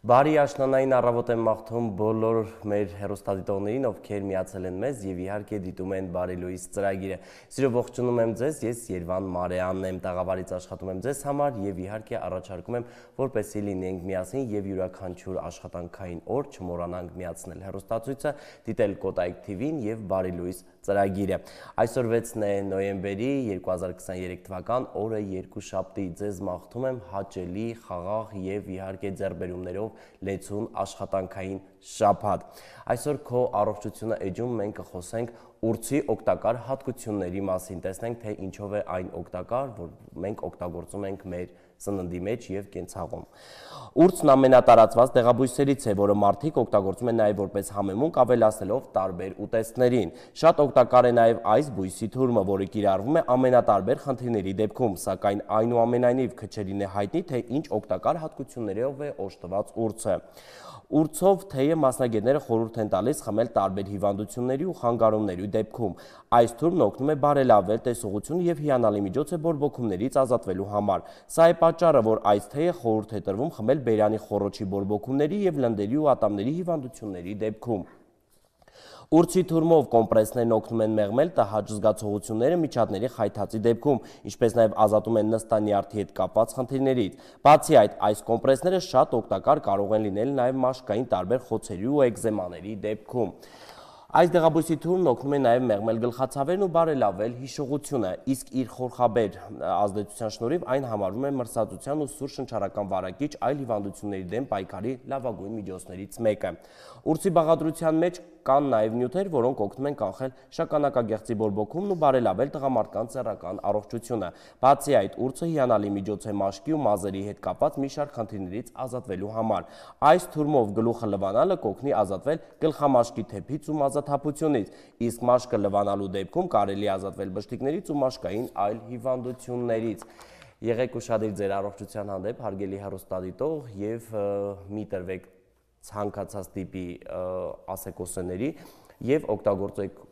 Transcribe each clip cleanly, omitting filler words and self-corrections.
Բարի աշնանային առավոտ եմ մաղթում բոլոր մեր հեռուստադիտողներին, ովքեր միացել են մեզ եւ իհարկե դիտում են Բարի լույս ծրագիրը։ Սիրով ողջունում եմ ձեզ, ես Երվան Մարեանն եմ, տաղավարից աշխատում եմ ձեզ համար եւ իհարկե առաջարկում եմ, որպեսզի լինենք միասին եւ յուրաքանչյուր աշխատանքային օր չմոռանանք միացնել հեռուստացույցը, դիտել Կոտայք TV-ն եւ Բարի լույս ծրագիրը։ Այսօր 6 նոյեմբերի 2023 թվական օրը երկուշաբթի, ձեզ մաղթում եմ հաճելի, խաղաղ եւ իհարկե ձեռբերումներով լեցուն աշխատանքային շաբաթ։ Այսօր քո առողջությունը էջում մենք կխոսենք ուրցի օգտակար հատկությունների մասին, տեսնենք թե ինչով է այն օգտակար, որ մենք օգտագործում ենք մեր սննդի մեջ եւ կենցաղում։ Ուրցն ամենատարածված դեղաբույսերից է, որը մարդիկ օգտագործում են նաեւ որպես համեմունք, ավելացնելով տարբեր ուտեստներին։ Շատ օգտակար է նաեւ այս բույսի թուրմը, որը կիրառվում է ամենատարբեր խնդիրների դեպքում, սակայն այնուամենայնիվ քչերին է հայտնի, թե ինչ օգտակար հատկություններով է օժտված ուրցը։ Ուրցով թեյը մասնագետները խորհուրդ են տալիս խմել տարբեր հիվանդությունների ու խանգարումների դեպքում։ Այս թուրմն օգնում է բարելավել տեսողությունը եւ հիանալի միջոց է բորբոքումներից ազատվելու համար։ Սա է պատճառը, որ այս թեյը խորհուրդ է տրվում խմել բերանի խոռոչի բորբոքումների եւ լնդերի ու ատամների հիվանդությունների դեպքում։ Ուրցի թուրմով կոմպրեսներն օգնում են մեղմել տհաճ զգացողությունները միջատների խայթածի դեպքում, ինչպես նաև ազատում են նստանյարդի հետ կապված խնդիրներից։ Բացի այդ, այս կոմպրեսները շատ օգտակար կարող են լինել նաև մաշկային տարբեր խոցերի ու էկզեմաների դեպքում։ Այս դեղաբույսի թուրմն օգնում է նաև մեղմել գլխացավերն ու բարելավել հիշողությունը, իսկ իր խորխաբեր ազդեցության շնորհիվ այն համարվում է մրսածության ու սուր շնչառական վարակիչ այլ հիվանդությունների դեմ պայքարի լավագույն միջոցներից մեկը։ Ուրցի բաղադրության մեջ կան նաև նյութեր, որոնք օգնում են կանխել շագանակագեղձի բորբոքումն ու բարելավել տղամարդկանց սեռական առողջությունը։ Բացի այդ, ուրցը հիանալի միջոց է մաշկի ու մազերի հետ կապված մի շարք խնդիրներից ազատվելու համար։ Այս թուրմով գլուխը լվանալը կօգնի ազատվել գլխամաշկի թեփից ու մազաթափությունից, իսկ մաշկը լվանալու դեպքում կարելի է ազատվել բշտիկներից ու մաշկային այլ հիվանդություններից։ Եղեք ուշադիր ձեր առողջության հանդեպ, հարգելի հեռուստադիտող, եւ մի տրվեք ցանկացած տիպի ասեկոսեների եւ օգտագործեք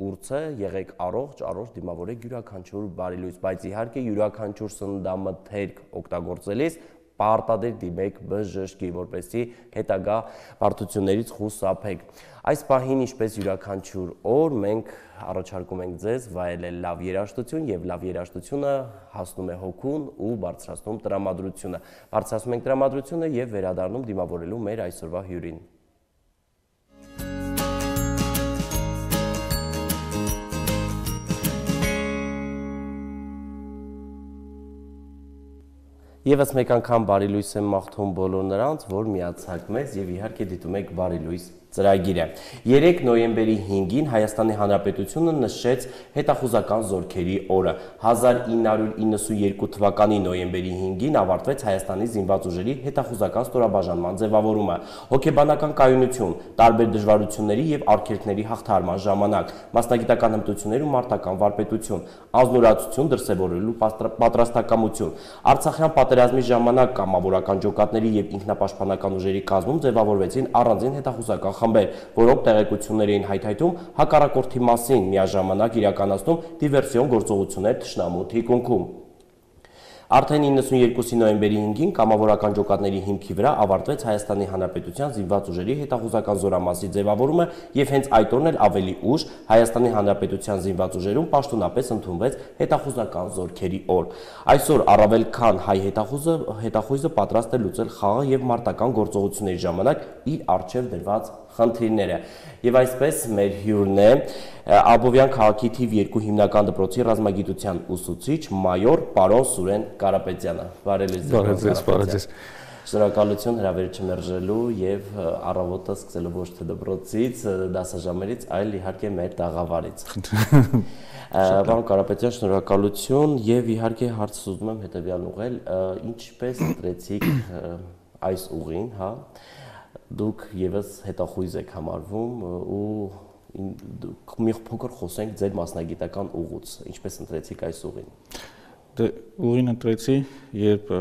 ուրցը, եղեք առողջ դիմավորեք յուրաքանչյուր բարի լույս, բայց իհարկե յուրաքանչյուր սննդամթերք օգտագործելիս պարտադիր դիմեք բժշկի, որպեսզի հետագա բարդություններից խուսափեք։ Այս պահին, ինչպես յուրաքանչյուր օր, մենք առաջարկում ենք ձեզ վայելել լավ երաժշտություն եւ լավ երաժշտությունը հասնում է հոգուն ու բարձրացնում տրամադրությունը։ Բարձրացնում ենք տրամադրությունը եւ վերադառնում դիմավորելու մեր այսօրվա հյուրին։ Եվս մեկ անգամ բարի լույս եմ մաղթում բոլոր նրանց, որ միացաք մեզ եւ իհարկե դիտում եք Բարի լույս ծրագիրը։ 3 նոյեմբերի 5-ին Հայաստանի Հանրապետությունը նշեց հետախուզական զորքերի օրը։ 1992 թվականի նոյեմբերի 5-ին ավարտվեց Հայաստանի զինված ուժերի հետախուզական ստորաբաժանման ձևավորումը։ Հոգեբանական կայունություն, տարբեր դժվարությունների եւ արգելքների հաղթահարման ժամանակ, մասնագիտական հմտություններ ու մարտական վարպետություն, ազնուրացություն դրսևորելու պատրաստակամություն, Արցախյան պատերազմի ժամանակ կամավորական ջոկատների եւ ինքնապաշտպանական ուժերի կազմում ձևավորվեցին առանձին հետախուզական խմբեր, որոնք տեղեկություններ էին հայթայթում հակառակորդի մասին, միաժամանակ իրականացնում դիվերսիոն գործողություններ թշնամու թիկունքում։ Արդեն 92 նոյեմբերի 5-ին կամավորական ջոկատների հիմքի վրա ավարտվեց Հայաստանի Հանրապետության զինված ուժերի հետախուզական զորամասի ձևավորումը եւ հենց այդ օրն էլ ավելի ուշ Հայաստանի Հանրապետության զինված ուժերում պաշտոնապես ընդունվեց հետախուզական զորքերի օր։ Այսօր առավել քան հայ հետախույզը պատրաստ է լուծել խաղաղ եւ մարտական գործողությունների ժամանակ իր առջև դրված խնդիրները։ Եվ այսպես մեր հյուրն է Աբովյան քաղաքի թիվ 2 հիմնական դպրոցի ռազմագիտության ուսուցիչ մայոր պարոն Սուրեն Կարապետյանը։ Բարև։ Շնորհակալություն հրավերը չմերժելու եւ առավոտը սկսելու ոչ թե դպրոցից, դասաժամերից, այլ իհարկե մեր տաղավարից։ Պարոն Կարապետյան, շնորհակալություն եւ իհարկե հարցս ուզում եմ հետեւյալն ուղղել, ինչպես ընտրեցիք այս ուղին, հա։ Դուք եւս հետախույզ եք համարվում ու մի փոքր խոսենք ձեր մասնագիտական ուղուց, ինչպես ընտրեցիք այս ուղին։ Դե ուղին ընտրեցի, երբ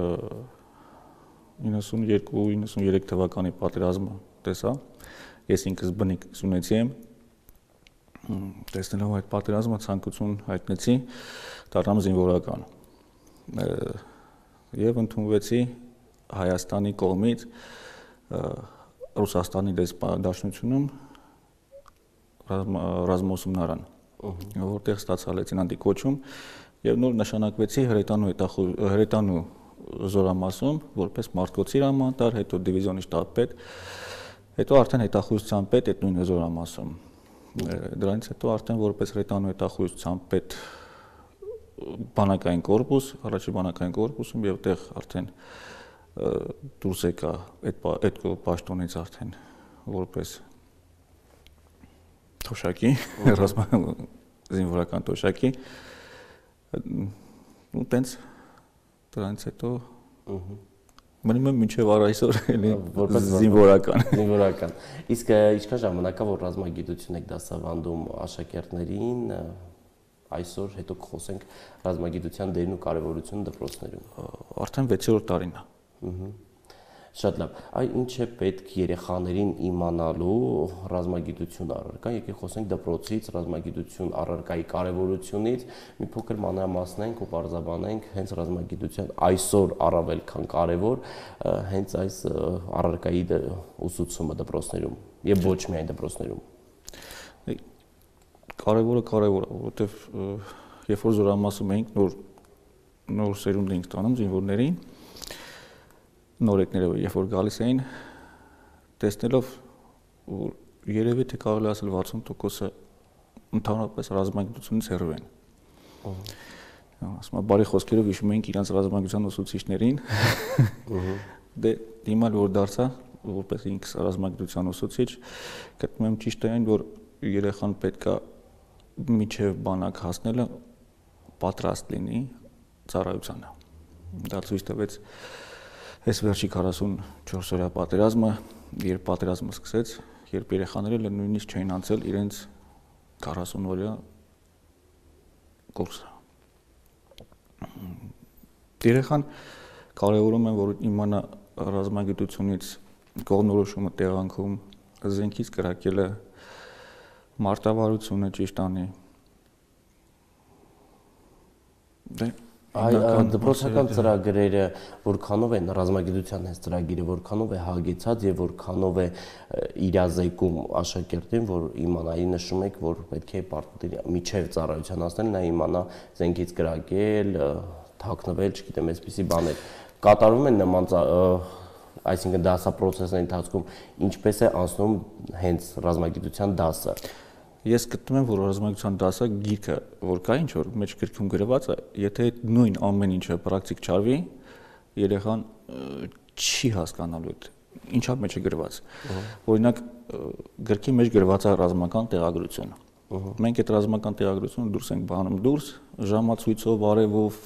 92-93 թվականի պատերազմը տեսա, ես ինքս բնիկ սյունեցի եմ, տեսնելով այդ պատերազմը ցանկություն հայտնեցի դառնամ զինվորական եւ ընդունվեցի Հայաստանի կողմից Ռուսաստանի դաշնությունում ռազմաուսումնարան, որտեղ ստացա լեյտենանտի կոչում եւ նոր նշանակվեցի հրետանու զորամասում որպես մարտկոցի հրամանտար, հետո դիվիզիոնի շտաբպետ, հետո արդեն հետախուզության պետ այդ նույն զորամասում։ Դրանից հետո արդեն որպես հրետանու հետախուզության պետ բանակային կորպուս, առաջի բանակային կորպուսում եւ այդտեղ արդեն դուրս եկա այդ պաշտոնից արդեն որպես թոշակի, զինվորական թոշակի, ու տենց դրանից հետո մնում եմ մինչև առայսօր էլի զինվորական։ Իսկ ինչքան ժամանակ է որ ռազմագիտություն եք դասավանդում աշակերտներին, այսօր հետո կխոսենք ռազմագիտության դերն ու կարևորությունը դպրոցներում։ Արդեն 6-րդ տարին է։ Շատ լավ։ Այ ինչ է պետք երեխաներին իմանալու ռազմագիտություն առարկա, եկեք խոսենք դպրոցից, ռազմագիտություն առարկայի կարևորությունից, մի փոքր մանրամասնենք ու բարձրաբանենք հենց ռազմագիտության այսօր առավել քան կարևոր հենց այս առարկայի ուսուցումը դպրոցներում եւ ոչ միայն դպրոցներում։ Կարևորը, որովհետեւ երբ որ զորամասում էինք նոր սերունդ էինք ստանում զինվորներին, նորեկները երբ որ գալիս էին, տեսնելով որ երևի թե կարելի ասել 60%-ը ընդհանրապես ռազմագիտությունից հեռու են։ Ասում եմ բարի խոսքերով հիշում էինք իրանց ռազմագիտության ուսուցիչներին։ Դե հիմա որ դարձա որպես ինքս ռազմագիտության ուսուցիչ, գտնում եմ ճիշտ է այն, որ երեխան պետքա միջև բանակ հասնելը պատրաստ լինի ծառայությանը։ Դա ցույց տվեց այս վերջի 44 օրյա պատերազմը, երբ պատերազմը սկսեց, երբ երեխաները նույնիսկ չէին անցել իրենց 40 օրյա կուրսը։ Երեխան կարևորում են, որ իմանա ռազմագիտությունից կողմնորոշումը տեղանքում, զենքից կրակելը, մարտավարությունը ճիշտ անի։ Դպրոցական ծրագրերը որքանով են ռազմագիտության այս ծրագիրը որքանով է հագեցած եւ որքանով է իրազեկում աշակերտին, որ իմանայի նշում եք, որ պետք է միջև ծառայության հասնել, նա իմանա զենքից կրակել, թաքնվել, չգիտեմ, այսպիսի բաներ կատարվում են նման այսինքն դասապրոցեսների ընթացքում ինչպես է անցնում հենց ռազմագիտության դասը։ Ես գտնում եմ, որ ռազմագիտության դասը գիրքը, որ կա ինչ որ մեջ գրքում գրված է, եթե նույն ամեն ինչը պրակտիկ չարվի, երեխան չի հասկանալու այդ ինչա մեջ է գրված։ Օրինակ գրքի մեջ գրված է ռազմական տեղագրություն։ Մենք այդ ռազմական տեղագրությունը դուրս ենք բանում դուրս, ժամացույցով, արևով,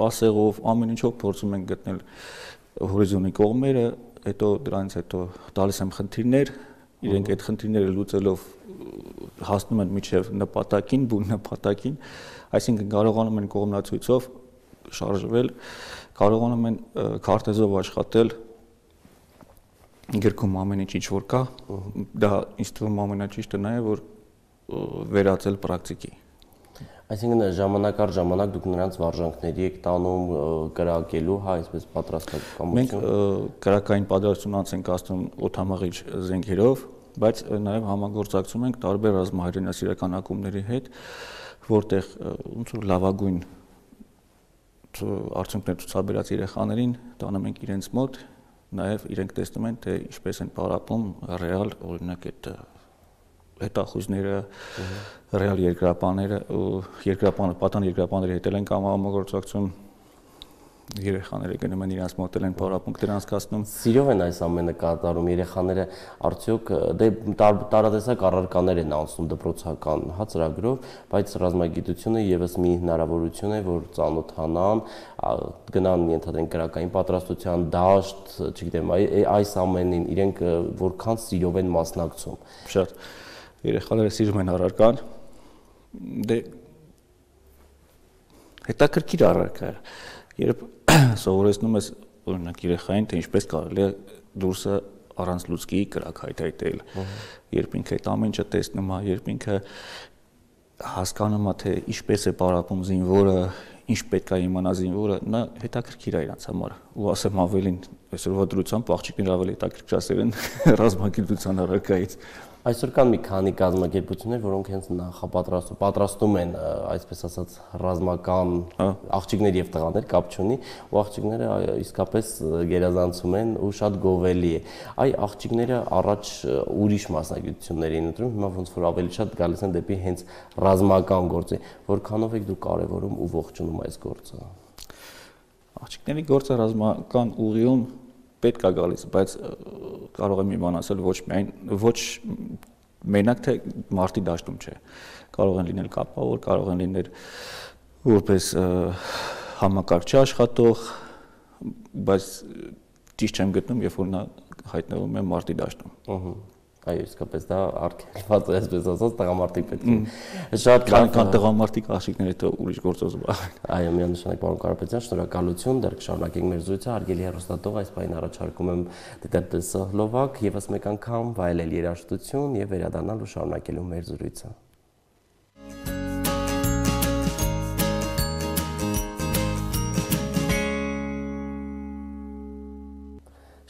ասեղով, ամեն ինչով փորձում ենք գտնել հորիզոնի կողմերը, հետո դրանից հետո տալիս եմ խնդիրներ, իրենք այդ խնդիրները լուծելով հասնում են միջև նպատակին, բուն նպատակին, այսինքն կարողանում են կողմնացույցով շարժվել, կարողանում են քարտեզով աշխատել, գրքում ամեն ինչ որ կա, դա ինձ թվում ամենաճիշտը նա է, որ վերածել պրակտիկի։ Այսինքն ժամանակ առ ժամանակ դուք նրանց վարժանքների եք տանում կրակելու, հա, այսպես պատրաստակամություն։ Մենք կրակային պատրաստություն անց ենք ասում օդամաղիչ զենքերով, բայց նաև համագործակցում ենք տարբեր ռազմահայրենասիրական ակումբների հետ, որտեղ ոնց որ լավագույն արդյունքներ ցուցաբերած երեխաներին տանում ենք իրենց մոտ, նաև իրենք տեսնում են, թե ինչպես են պարապում ռեալ օրինակ այդ հետախույզները, ռեալ երկրապահները ու պատան երկրապահների հետ են համագործակցում, երեխաները գնում են իրենց մոտ են պարապմունքներ անցկացնում։ Սիրով են այս ամենը կատարում երեխաները, արդյոք դե տարատեսակ առարկաներ են անցնում դպրոցական հա ծրագրով, բայց ռազմագիտությունը եւս մի հնարավորություն է, որ ծանոթանան, գնան ենթադրենք կրակային պատրաստության դաշտ, չգիտեմ, այս ամենին իրենք որքան սիրով են մասնակցում։ Շատ երեխաները սիրում են առարկան, դե հետաքրքիր առարկա է, երբ սովորեցնում ես օրինակ երեխային, թե ինչպես կարելի է դուրսը առանց լուցկի կրակ հայթայթել, երբ ինքը այդ ամեն ինչը տեսնում է, երբ ինքը հասկանում է, թե ինչպես է պարապում զինվորը, ինչ պետք է իմանա զինվորը, նա հետաքրքիր է իրանց համար, ու ասեմ ավելին այսօրվա դրությամբ աղջիկները ավելի հետաքրքրասեր են ռազմագիտության առարկայից։ Այսօր կան մի քանի կազմակերպություններ, որոնք հենց պատրաստում են, այսպես ասած, ռազմական աղջիկներ եւ տղաներ, կապ չունի, ու աղջիկները իսկապես գերազանցում են ու շատ գովելի է։ Այ աղջիկները առաջ ուրիշ մասնագիտություններ էին ընտրում, հիմա ոնց որ ավելի շատ գալիս են դեպի հենց ռազմական գործի, որքանով եք դուք կարևորում ու ողջունում այս գործը։ Աղջիկների գործը ռազմական ուղիում պետք է գալիս, բայց կարող եմ մի բան ասել ոչ մենակ թե մարտի դաշտում չէ։ Կարող են լինել կապավոր, կարող են լինել որպես համակարգչի աշխատող, բայց ճիշտ չեմ գտնում, երբ որ նա հայտնվում է մարտի դաշտում։ Այո, իսկապես դա արգելված է, այսպես ասած, տղամարդիկ պետք է։ Շատ կան տղամարդիկ աղջիկներ, հետո ուրիշ գործով զբաղվեն։ Այո, միանշանակ պարոն Կարապետյան, շնորհակալություն, դեռ կշարունակենք մեր զրույցը, հարգելի հեռուստատող, այս պահին առաջարկում եմ դիտել տեսահոլովակ, եւս մեկ անգամ վայելել երաժշտություն եւ վերադառնալ ու շարունակելու մեր զրույցը։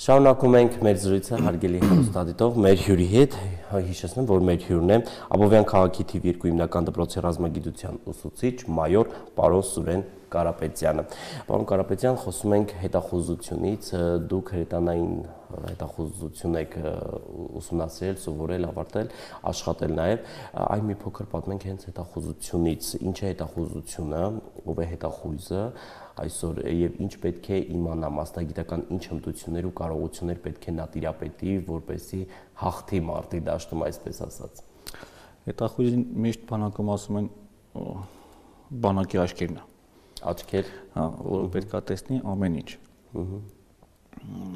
Շարունակում ենք մեր զրույցը, հարգելի հեռուստադիտող, մեր հյուրի հետ, հիշեցնեմ, որ մեր հյուրն է Աբովյան քաղաքի թիվ 2 հիմնական դպրոցի ռազմագիտության ուսուցիչ մայոր պարոն Սուրեն Կարապետյանը։ Պարոն Կարապետյան, խոսում ենք հետախուզությունից, դուք հրետանային հետախուզություն եք ուսումնասիրել, սովորել, ավարտել, աշխատել նաև, այն մի փոքր պատմենք հենց հետախուզությունից, ինչ է հետախուզությունը, ով է հետախույզը այսօր եւ ինչ պետք է իմանա մասնագիտական ինչ հմտություններ ու կարողություններ պետք է նա տիրապետի, որպեսզի հաղթի մարտի դաշտում, այսպես ասած։ Հետախույզին միշտ բանակում ասում են բանակի աչքերն է։ Աչքեր, հա, որը պետք է տեսնի ամեն ինչ։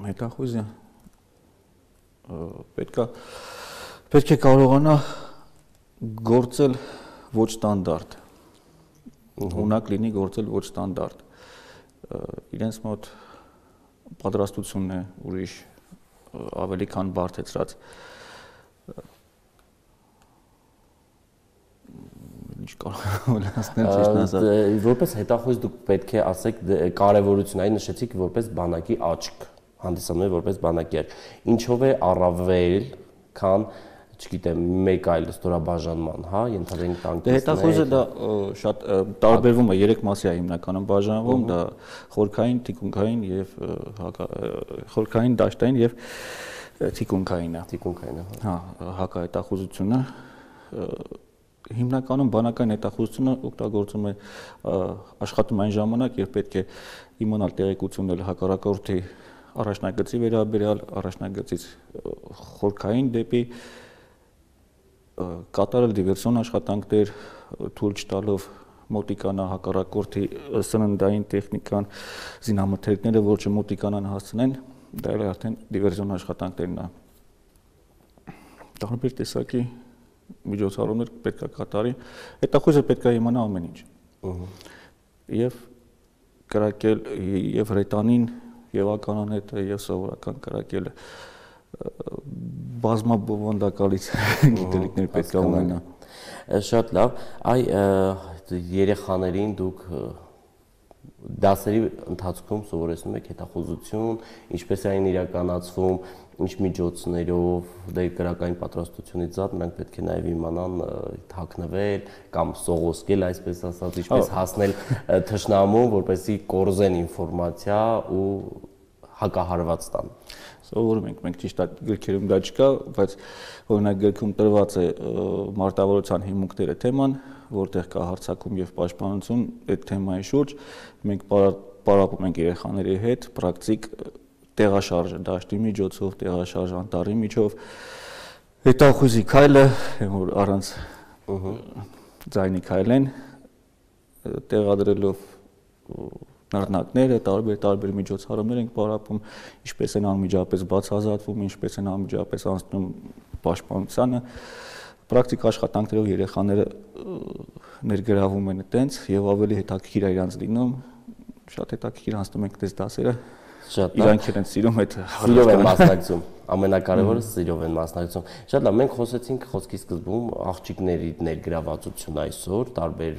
Հետախույզը պետք է կարողանա գործել ոչ ստանդարտ։ Ունակ լինի գործել ոչ ստանդարտ։ Իրենց մոտ պատրաստությունն է ուրիշ ավելի քան բարդեցրած։ Ինչ կարող եմ ասել, ճիշտն ասած։ Որպես հետախույզ դուք պետք է ասեք կարևորություն, այն նշեցիք որպես բանակի աչք, հանդիսանում է որպես բանակի աչք։ Ինչով է առավել, քան, չգիտեմ, մեկ այլ ստորաբաժանման, հա, ենթադրենք տանկիստներ։ Հետախույզը դա շատ տարբերվում է, 3 մասի է հիմնականում բաժանվում, դա խորքային, թիկունքային եւ խորքային, դաշտային եւ թիկունքայինը։ Թիկունքայինը, հա, հակահետախուզությունը հիմնականում բանակային հետախուզությունը օգտագործում է աշխատում այն ժամանակ, երբ պետք է իմանալ տեղեկություններ հակառակորդի առաջնագծի վերաբերյալ, առաջնագծից խորքային դեպի կատարել դիվերսիոն աշխատանքներ, թույլ չտալով մոտիկանա հակառակորդի սննդային տեխնիկան, զինամթերքները, որ չմոտիկանան հասցնեն, դա էլ արդեն դիվերսիոն աշխատանքներն է։ Տարբեր տեսակի միջոցառումներ պետք է կատարի, հետախույզը պետք է իմանա ամեն ինչ։ Եվ կրակել եւ հրետանին, եւ ականանետը, եւ սովորական կրակելը բազմաբովանդակալից գիտելիքներ պետք է ունենա։ Շատ լավ, այ երեխաներին դուք դասերի ընթացքում սովորեցնում եք հետախուզություն, ինչպես է այն իրականացվում, ինչ միջոցներով, դե կրակային պատրաստությունից զատ նրանք պետք է նաև իմանան թաքնվել կամ սողոսկել, այսպես ասած, ինչպես հասնել թշնամուն, որպեսզի կորզեն ինֆորմացիա ու հակահարված տան։ Սովորում ենք, մենք ճիշտ է գրքերում դա չկա, բայց օրինակ գրքում տրված է մարտավարության հիմունքները թեման, որտեղ կա հարձակում եւ պաշտպանություն այդ թեմայի շուրջ, մենք պարապում ենք երեխաների հետ պրակտիկ տեղաշարժը դաշտի միջոցով, տեղաշարժ անտառի միջով, հետախույզի քայլը, որ առանց ձայնի քայլեն, տեղադրելով նռնակները, տարբեր միջոցառումներ ենք պարապում, ինչպես են անմիջապես բացահայտվում, ինչպես են անմիջապես անցնում պաշտպանությանը, պրակտիկ աշխատանքներով երեխաները ներգրավում են այդտենց եւ ավելի հետաքրքիր է իրանց լինում, շատ հետաքրքիր անցնում ենք այդպես դասերը, իրանք են սիրում այդ սիրով են մասնակցում, ամենակարևորը սիրով են մասնակցում։ Շատ լավ, մենք խոսեցինք խոսքի սկզբում աղջիկների ներգրավվածություն այսօր, տարբեր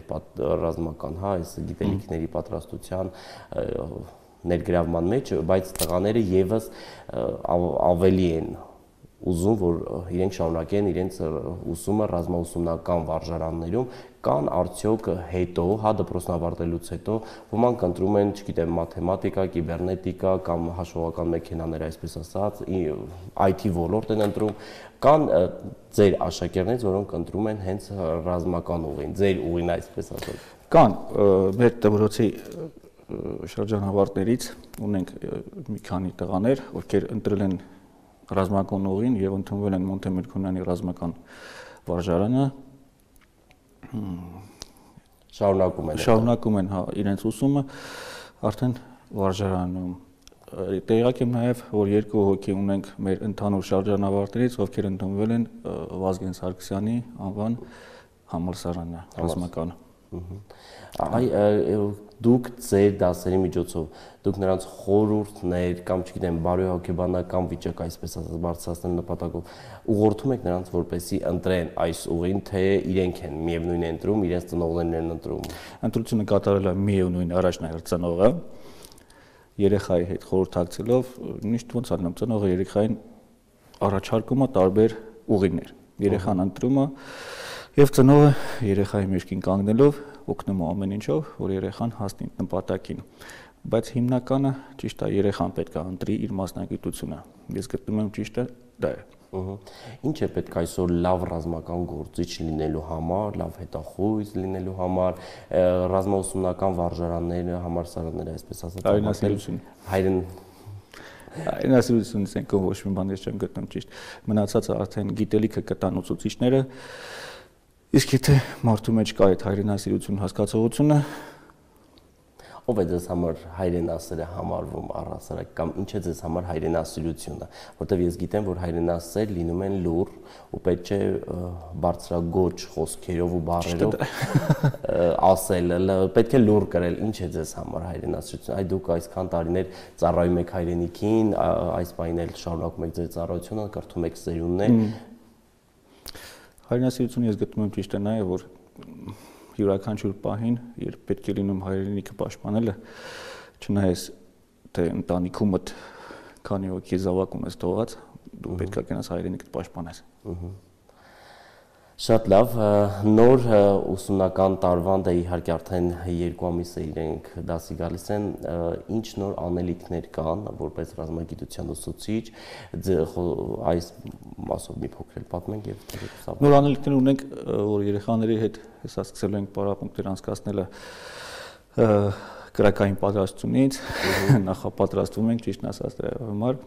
ռազմական, հա, այս գիտելիքների պատրաստության ներգրավման մեջ, բայց տղաները եւս ավելի են ուզում, որ իրենք շարունակեն իրենց ուսումը ռազմաուսումնական վարժարաններում, կան արդյոք հետո, հա դպրոցն ավարտելուց հետո, ոմանք ընտրում են, չգիտեմ, մաթեմատիկա, կիբեռնետիկա կամ հաշվողական մեքենաներ, այսպես ասած, IT ոլորտ են ընտրում, կան ձեր աշակերտներից, որոնք ընտրում են հենց ռազմական ուղին, ձեր ուղին, այսպես ասած։ Կան մեր դպրոցի շրջանավարտներից ունենք մի քանի տղաներ, ովքեր ընտրել են ռազմական ուղին եւ ընդունվել են Մոնտե Միրքոնյանի ռազմական վարժարանը, շարունակում են հա իրենց ուսումը արդեն վարժարանում։ Տեղյակ եմ նաեւ, որ 2 հոգի ունենք մեր ընդհանուր շրջանավարտներից, ովքեր ընդունվել են Վազգեն Սարգսյանի անվան համալսարանը ռազմական։ Դուք ձեր դասերի միջոցով դուք նրանց խորհուրդներ կամ չգիտեմ բարոյահոգեբանական վիճակ այսպես ասած բարձրացնել նպատակով ուղղորդում եք նրանց որպեսզի ընտրեն այս ուղին թե իրենք են միևնույն ընտրում իրենց ծնողներն են ընտրում ընտրությունը կատարել է միևնույն առաջնահերթ ծնողը երեխայի հետ խորհրդակցելով միշտ ոնց անում ծնողը երեխային առաջարկում է տարբեր ուղիներ երեխան ընտրում է եւ ծնողը երեխայի մեջքին կանգնելով օգնում է ամեն ինչով, որ երեխան հասնի նպատակին, բայց հիմնականը ճիշտ է երեխան պետք է ընտրի իր մասնագիտությունը։ Ես գտնում եմ ճիշտը դա է։ Ինչ է պետք այսօր լավ ռազմական գործիչ լինելու համար, լավ հետախույզ լինելու համար, ռազմաուսումնական վարժարանները, համալսարանները, այսպես ասած, հայրենասիրություն ասենք ոչ մի բան ես չեմ գտնում ճիշտ։ Մնացածը արդեն գիտելիքը կտան ուսուցիչները Իսկ եթե մարդու մեջ կա այդ հայրենասիրություն հասկացողությունը, ով է ձեզ համար հայրենասերը համարվում առհասարակ կամ ինչ է ձեզ համար հայրենասիրությունը, որտեղ ես գիտեմ, որ հայրենասեր լինում են լուռ ու պետք է բարձրագոչ խոսքերով ու բառերով ասել, պետք է լուռ կրել, ինչ է ձեզ համար հայրենասիրությունը, այ դուք այսքան տարիներ ծառայում եք հայրենիքին, այս պահին էլ շարունակում եք ձեր ծառայությունը, կրթում եք սերունդներ Հայրենասիրությունը ես գտնում եմ ճիշտ է նաև, որ յուրաքանչյուր պահին, երբ պետք է լինում հայրենիքը պաշտպանելը, չնայած թե ընտանիքումդ քանի հոգի զավակ ունես թողած, դու պետք է գնաս հայրենիքդ պաշտպանես։ Շատ լավ, նոր ուսումնական տարվան դե իհարկե արդեն 2 ամիս է իրենք դասի գալիս են, ինչ նոր անելիքներ կան, որպես ռազմագիտության ուսուցիչ, այս մասով մի փոքր պատմենք եւ նոր անելիքներ ունենք, որ երեխաների հետ հեսա սկսել ենք պարապմունքներ անցկացնելը կրակային պատրաստությունից, նախապատրաստվում ենք ճիշտ ասած դրա համար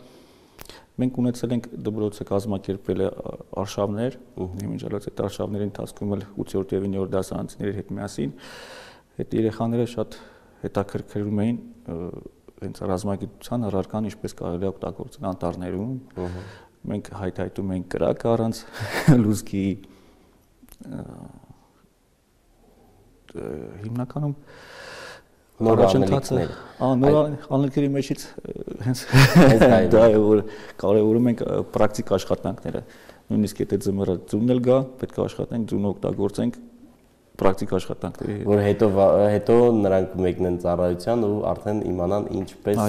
Մենք ունեցել ենք դպրոցը կազմակերպել է արշավներ, իմիջիալոց այդ արշավների ընթացքում էլ 8-րդ եւ 9-րդ դասարանցիների հետ միասին այդ երեխաները շատ հետաքրքրում էին հենց ռազմագիտության առարկան ինչպես կարելի է օգտագործել անտառներում։ Մենք հայթայթում ենք կրակ առանց լուցկի հիմնականում Նոր անելիքներ։ Նոր անելիքների մեջից հենց դա է որ կարևորում ենք պրակտիկ աշխատանքները։ Նույնիսկ եթե ձմեռը ձյունն էլ գա, պետք է աշխատենք ձյունը օգտագործենք պրակտիկ աշխատանքների։ Որ հետո նրանք մեկնեն ծառայության ու արդեն իմանան ինչպես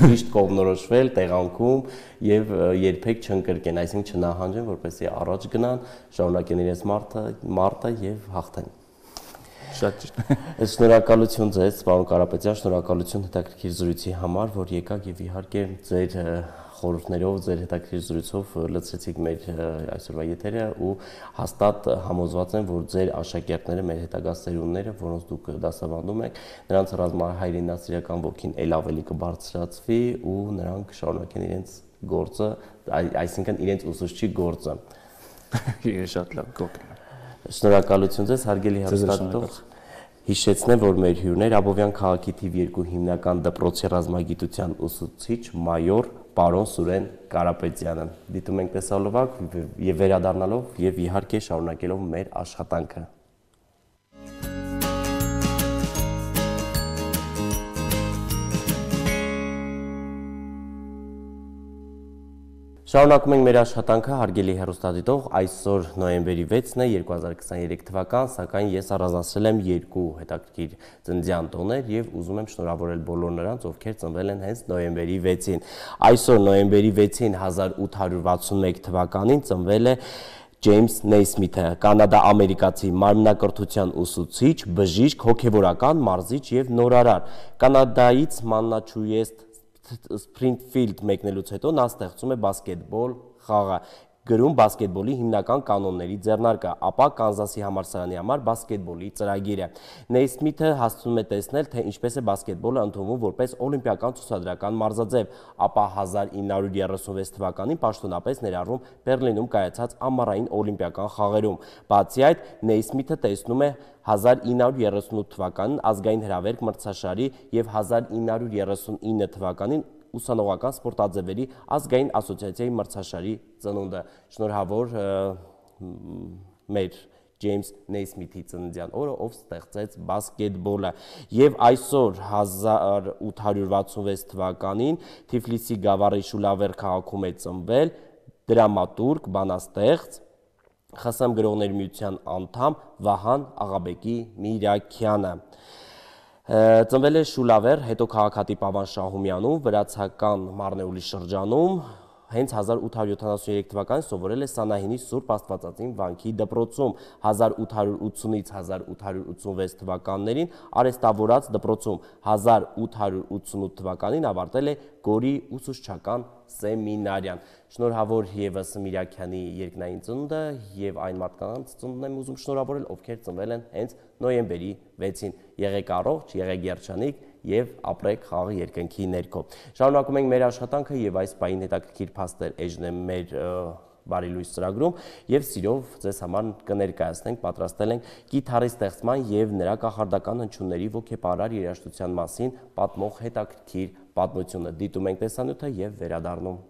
ճիշտ կողմնորոշվել տեղանքում եւ երբեք չընկրկեն, այսինքն չնահանջեն, որպեսզի առաջ գնան, շարունակեն իրենց մարտը եւ հաղթեն։ Շատ ճիշտ։ Շնորհակալություն ձեզ, պարոն Կարապետյան, շնորհակալություն հետաքրքիր զրույցի համար, որ եկաք եւ իհարկե ձեր խորհուրդներով, ձեր հետաքրքիր զրույցով լցրեցիք մեր այսօրվա եթերը ու հաստատ համոզված եմ, որ ձեր աշակերտները, մեր հետագա սերունդները, որոնց դուք դասավանդում եք, նրանց ռազմահայրենասիրական ոգին ել ավելի կբարձրացվի ու նրանք կշարունակեն իրենց գործը, այսինքն իրենց ուսուցչի գործը։ Շատ լավ գոհ եմ։ Շնորհակալություն ձեզ, հարգելի հեռուստադիտող։ Հիշեցնեմ, որ մեր հյուրն էր Աբովյան քաղաքի թիվ 2 հիմնական դպրոցի ռազմագիտության ուսուցիչ մայոր պարոն Սուրեն Կարապետյանը։ Դիտում ենք տեսալովակ եւ վերադառնալով եւ իհարկե շարունակելով մեր աշխատանքը։ Շարունակում ենք մեր աշխատանքը, հարգելի հեռուստադիտող, այսօր նոյեմբերի 6-ն է 2023 թվական, սակայն ես առանձնացրել եմ երկու հետաքրքիր ծննդյան տոներ եւ ուզում եմ շնորհավորել բոլոր նրանց, ովքեր ծնվել են հենց նոյեմբերի 6-ին։ Այսօր նոյեմբերի 6-ին 1861 թվականին ծնվել է Ջեյմս Նեյսմիթը, կանադա-ամերիկացի մարմնակրթության ուսուցիչ, բժիշկ, հոգևորական, մարզիչ եւ նորարար։ Կանադայից Մաննաչուեստ Սփրինգֆիլդ մեկնելուց հետո նա ստեղծում է բասկետբոլ խաղը, գրում բասկետբոլի հիմնական կանոնների ձեռնարկը, ապա Կանզասի համալսարանի համար բասկետբոլի ծրագիրը։ Նեյսմիթը հասցնում է տեսնել, թե ինչպես է բասկետբոլը ընդունվում որպես օլիմպիական ցուցադրական մարզաձև, ապա 1936 թվականին պաշտոնապես ներառվում Բեռլինում կայացած ամառային օլիմպիական խաղերում։ Բացի այդ, Նեյսմիթը տեսնում է 1938 թվականին ազգային հրավերք մրցաշարի եւ 1939 թվականին ուսանողական սպորտաձևերի ազգային ասոցիացիայի մրցաշարի ծնունդը։ Շնորհավոր մեր Ջեյմս Նեյսմիթի ծննդյան օրը, ով ստեղծեց բասկետբոլը։ Եվ այսօր 1866 թվականին Թիֆլիսի գավառի Շուլավեր քաղաքում է ծնվել դրամատուրգ, բանաստեղծ, ԽՍՀՄ գրողների միության անդամ Վահան Աղաբեկի Միրաքյանը։ Ծնվել է Շուլավեր, հետո քաղաքատիպ Ավան Շահումյանում, վրացական Մարնեուլի շրջանում, հենց 1873 թվականին սովորել է Սանահինի Սուրբ Աստվածածին վանքի դպրոցում, 1880-ից 1886 թվականներին արեստավորած դպրոցում, 1888 թվականին ավարտել է Գորի ուսուցչական սեմինարիան։ Շնորհավոր եւս Միրաքյանի երկնային ծնունդը եւ այն մարդկանց ծնունդն եմ ուզում շնորհավորել, ովքեր ծնվել են հենց նոյեմբերի 6-ին։ Եղեք առողջ, եղեք երջանիկ եւ ապրեք խաղի երկնքի ներքո։ Շարունակում ենք մեր աշխատանքը եւ այս պահին հետաքրքիր փաստեր էժն մեր Բարի լույս ծրագրում եւ սիրով ձեզ համար կներկայացնենք, պատրաստել ենք գիտարի ստեղծման եւ նրա կախարդական հնչյունների ոգեպարար երաժշտության մասին պատմող հետաքրքիր պատմությունը։ Դիտում ենք տեսանյութը եւ վերադառնում։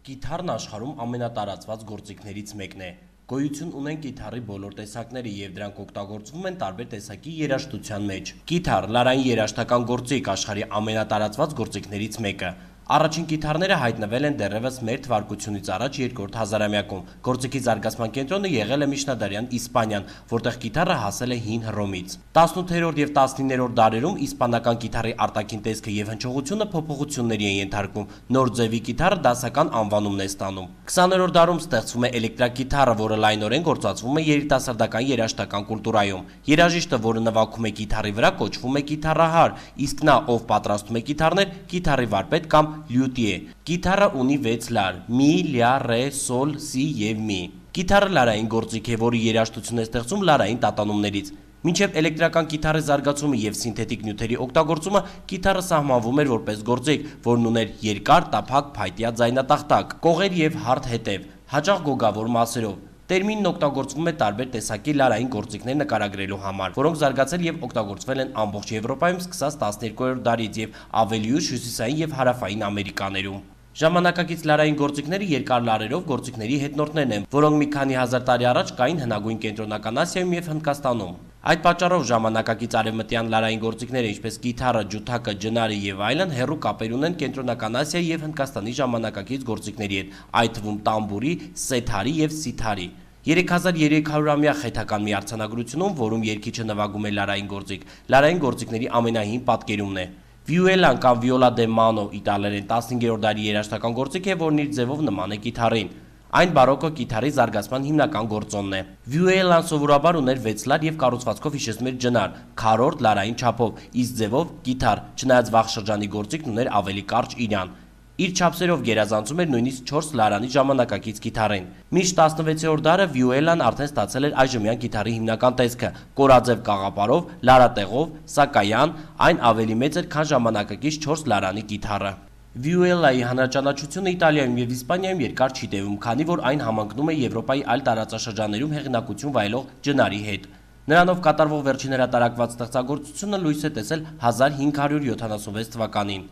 Գիտարն աշխարհում ամենատարածված գործիքներից մեկն է։ Գոյություն ունեն գիտարի բոլոր տեսակները եւ դրանք օգտագործվում են տարբեր տեսակի երաժշտության մեջ։ Գիտար լարային երաժշտական գործիք, աշխարհի ամենատարածված գործիքներից մեկը։ Առաջին գիտարները հայտնվել են դեռևս մեր թվարկությունից առաջ երկրորդ հազարամյակում։ Գործիքի զարգացման կենտրոնը եղել է միջնադարյան Իսպանիան, որտեղ գիտարը հասել է հին Հռոմից։ 18-րդ եւ 19-րդ դարերում իսպանական գիտարի արտաքին տեսքը եւ հնչողությունը փոփոխությունների են ենթարկվում։ Նոր ձևի գիտարը դասական անվանումն է ստանում։ 20-րդ դարում ստեղծվում է էլեկտրագիտարը, որը լայնորեն գործածվում է երիտասարդական երաժշտական կուլտուրայում։ Երաժիշտը, որը նվագում է գիտարի վրա, կոչվում է գիտարահար, իսկ նա, ով պատրաստում է գիտարներ, գիտարի վարպետ կամ լյուտիե։ Գիտարը ունի 6 լար՝ մի, լյա, ռե, սոլ, սի եւ մի։ Գիտարը լարային գործիք է, որի երաժշտություն է ստեղծում լարային տատանումներից։ Մինչև էլեկտրական գիտարի զարգացումը եւ սինթետիկ նյութերի օգտագործումը, գիտարը սահմանվում էր որպես գործիք, որն ուներ երկար, տափակ, փայտյա ձայնատախտակ, կողեր եւ հարթ հետև, հաճախ գոգավոր մասերով։ Տերմինն օգտագործվում է տարբեր տեսակի լարային գործիքներ նկարագրելու համար, որոնք զարգացել եւ օգտագործվել են ամբողջ Եվրոպայում սկսած 12-րդ դարից եւ ավելի ուշ հյուսիսային եւ հարավային Ամերիկաներում։ Ժամանակակից լարային գործիքները երկար լարերով գործիքների հետնորդներն են, որոնք մի քանի հազար տարի առաջ կային հնագույն Կենտրոնական Ասիայում եւ Հնդկաստանում։ Այդ պատճառով ժամանակակից արևմտյան լարային գործիքները, ինչպես գիտարը, ջութակը, ջնարը եւ այլն, հեռու կապեր ունեն Կենտրոնական Ասիայի եւ Հնդկաստանի ժամանակակից գործիքների հետ, այդ թվում տամբուրի, սեթարի եւ սիթարի։ 3300-ամյա խեթական մի արձանագրությունում, որում երգիչը նվագում է լարային գործիք, լարային գործիքների ամենահին պատկերումն է։ Վիուելան կամ վիոլա դե մանո իտալերեն 15-րդ դարի երաժշտական գործիք է, որն իր ձևով նման է գիտարին։ Այն բարոկո գիտարի զարգացման հիմնական գործոնն է։ Վիուելան սովորաբար ուներ 6 լար եւ կառուցվածքով հիշեցնում էր ջնար, քառորդ լարային չափով, իսկ ձևով գիտար, չնայած վաղ շրջանի գործիքն ուներ ավելի կարճ իրան։ Իր չափսերով գերազանցում էր նույնիսկ 4 լարանի ժամանակակից գիտարին։ Մինչ 16-րդ դարը Վիուելան արդեն ստացել էր այժմյան գիտարի հիմնական տեսքը՝ կորաձև կաղապարով, լարատեղով, սակայն այն ավելի մեծ էր, քան ժամանակակից 4 լարանի գիտարը։ Վիուելայի հանրաճանաչությունը Իտալիայում եւ Իսպանիայում երկար չի տևում, քանի որ այն համընկնում է Եվրոպայի այլ տարածաշրջաններում հեղինակություն վայելող ջնարի հետ։ Նրանով կատարվող վերջին հրատարակված ստեղծագործությունը լույս է տեսել 1576 թվականին։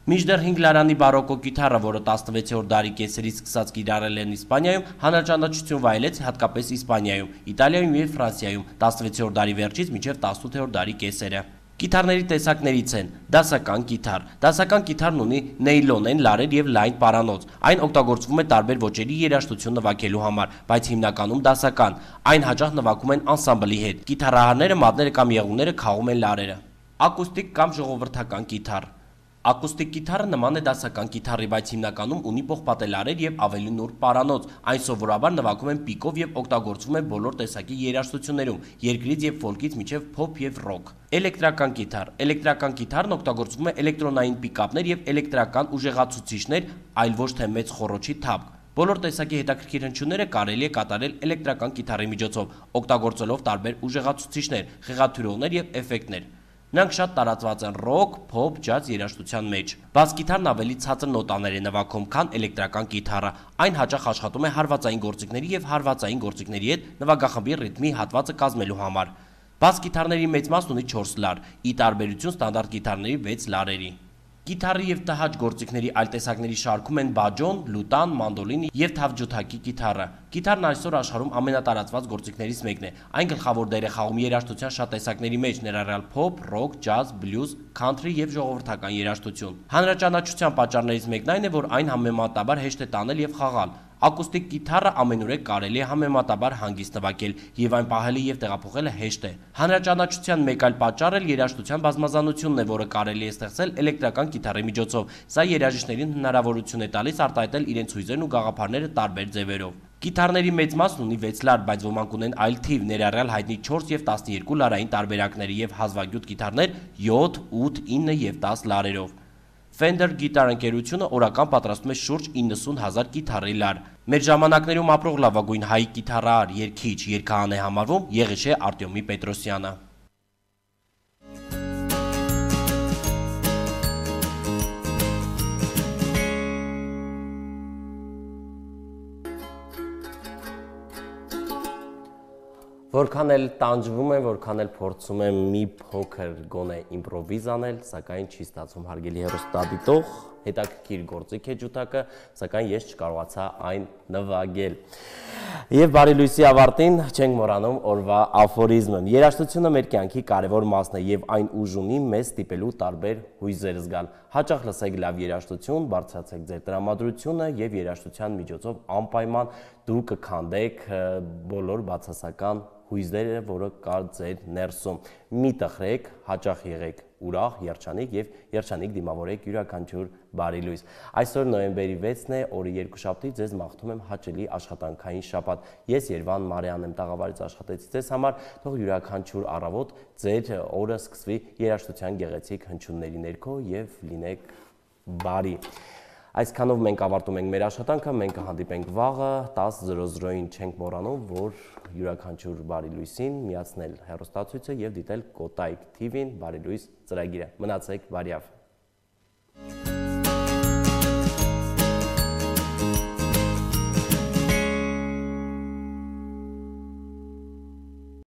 Մինչդեռ 5 լարանի բարոկո կիթառը, որը 16-րդ դարի կեսերից սկսած կիրառել են Իսպանիայում, հանրաճանաչություն վայելեց հատկապես Իսպանիայում, Իտալիայում և Ֆրանսիայում 16-րդ դարի վերջից մինչև 18-րդ դարի կեսերը։ Կիթառների տեսակներից են դասական կիթառ։ Դասական կիթառն ունի նեյլոնեն լարեր և լայն պարանոց։ Այն օգտագործվում է տարբեր ոճերի երաժշտություն նվագելու համար, բայց հիմնականում դասական։ Այն հաճախ նվագում են անսամբլի հետ։ Կիթառահարները, մատները կամ եղունգները խաղում են լարերը։ Ակուստիկ կամ ժողովրդական կիթառ։ Ակուստիկ կիթառը նման է դասական կիթառի, բայց հիմնականում ունի պողպատե լարեր և ավելի նուրբ պարանոց։ Այն սովորաբար նվագում են պիկով և օգտագործվում է բոլոր տեսակի երաժշտություններում՝ երկրից և ֆոլքից մինչև փոփ և ռոք։ Էլեկտրական կիթառ։ Էլեկտրական կիթառն օգտագործվում է էլեկտրոնային պիկապներ և էլեկտրական ուժեղացուցիչներ, այլ ոչ թե մեծ խոռոչի թափք։ Բոլոր տեսակի հետաքրքիր հնչյունները կարելի է կատարել էլեկտրական կիթառի միջոցով, օգտագործելով տարբեր ուժեղացուցիչներ, խեղաթյուրողներ և էֆեկտներ։ Նրանք շատ տարածված են ռոք, փոփ, ջազ երաժշտության մեջ։ Բաս կիթառն ավելի ցածր նոտաներ է նվագում, քան էլեկտրական կիթառը։ Այն հաճախ աշխատում է հարվածային գործիքների և հարվածային գործիքների հետ նվագախմբի ռիթմի հատվածը կազմելու համար։ Բաս կիթառների մեծ մասն ունի 4 լար, ի տարբերություն ստանդարտ կիթառների 6 լարերի։ Կիթառի և տհաճ գործիքների այլ տեսակների շարքում են բաջոն, լուտան, մանդոլին և թավջութակի կիթառը։ Կիթառն այսօր աշխարհում ամենատարածված գործիքներից մեկն է։ Այն գլխավոր դեր է խաղում երաժշտության շատ տեսակների մեջ, ներառյալ փոփ, ռոք, ջազ, բլյուզ, քանթրի և ժողովրդական երաժշտություն։ Հանրաճանաչության պատճառներից մեկն այն է, որ այն համեմատաբար հեշտ է տանել և խաղալ։ Ակուստիկ կիթառը ամենուրեք կարելի է համեմատաբար հանգիստ նվագել, և այն պահելը և տեղափոխելը հեշտ է։ Հանրաճանաչության մեկ այլ պատճառ էլ երաժշտության բազմազանությունն է, որը կարելի է ստեղծել էլեկտրական կիթառի միջոցով։ Սա երաժիշտներին հնարավորություն է տալիս արտահայտել իրենց հույզերն ու գաղափարները տարբեր ձևերով։ Կիթառների մեծ մասն ունի 6 լար, բայց ոմանք ունեն այլ թիվ, ներառյալ հայտնի 4 և 12 լարային տարբերակները և հազվագյուտ կիթառներ 7, 8, 9 և 10 լարերով։ Fender գիտար ընկերությունը օրական պատրաստում է շուրջ 90,000 կիթառի լար։ Մեր ժամանակներում ապրող լավագույն հայ կիթառահար, երգիչ, երգահան է համարվում Եղիշե Արտյոմի Պետրոսյանը։ Որքան էլ տանջվում եմ, որքան էլ փորձում եմ մի փոքր գոնե իմպրովիզ անել, սակայն չի ստացվում, հարգելի հեռուստադիտող, հետաքրքիր գործիք է ջութակը, սակայն ես չկարողացա այն նվագել։ Եվ բարի լույսի ավարտին չենք մոռանում օրվա աֆորիզմը։ Երաժշտությունը մեր կյանքի կարևոր մասն է և այն ուժ ունի մեզ ստիպելու տարբեր հույզեր զգալ։ Հաճախ լսեք լավ երաժշտություն, բարձրացեք ձեր տրամադրությունը և երաժշտության միջոցով անպայման դու կքանդեք բոլոր բացասական հույզերը, որը կա ձեր ներսում։ Մի տխրեք, հաճախ եղեք ուրախ, երջանիկ և երջանիկ դիմավորեք յուրաքանչյուր բարի լույս։ Այսօր նոյեմբերի 6-ն է, օրը երկուշաբթի, ձեզ մաղթում եմ հաճելի աշխատանքային շաբաթ։ Ես Երվան Մարեանն եմ, տաղավարից աշխատեցի ձեզ համար, թող յուրաքանչյուր առավոտ ձեր օրը սկսվի երաժշտության գեղեցիկ հնչյունների ներքո և լինեք բարի։ Այսքանով մենք ավարտում ենք մեր աշխատանքը, մենք կհանդիպենք վաղը 10:00-ին, չենք մոռանում, որ յուրաքանչյուր բարի լույսին միացնել հեռուստացույցը և դիտել Կոտայք TV-ին բարի լույս ծրագիրը։ Մնացեք բարյավ։